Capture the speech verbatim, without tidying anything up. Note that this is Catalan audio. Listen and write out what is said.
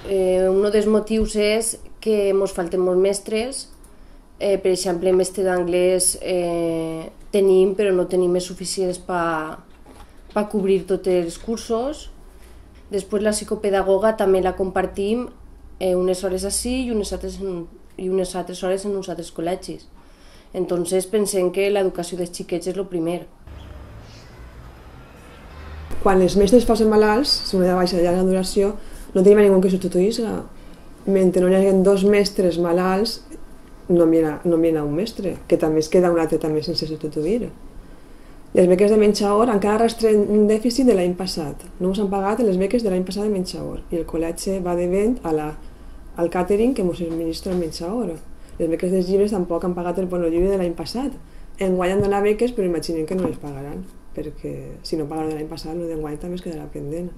Eh, un dels motius és que ens falten molts mestres. Eh, per exemple, mestre d'anglès eh, tenim, però no tenim més suficients per pa cobrir tots els cursos. Després la psicopedagoga també la compartim eh, unes hores així i unes altres, en, i unes altres hores en uns altres col·legis. Entonces pensem que l'educació dels xiquets és el primer. Quan els mestres posen malalts, si una de baixa de llarga duració, no tenim a ningú que substituís. Mentre no hi hagi dos mestres malalts, no mira, no mira un mestre, que també es queda un altre també sense substituir. Les beques de menjador encara arrastren un dèficit de l'any passat. No s'han pagat les beques de l'any passat de menjador i el col·legi va devent a la, al càtering que ens administra el menjador. Les beques dels llibres tampoc han pagat el bonollibre de l'any passat. Enguany han donat beques, però imaginem que no les pagaran, perquè si no pagaran l'any passat, el d'enguany també es quedarà pendent.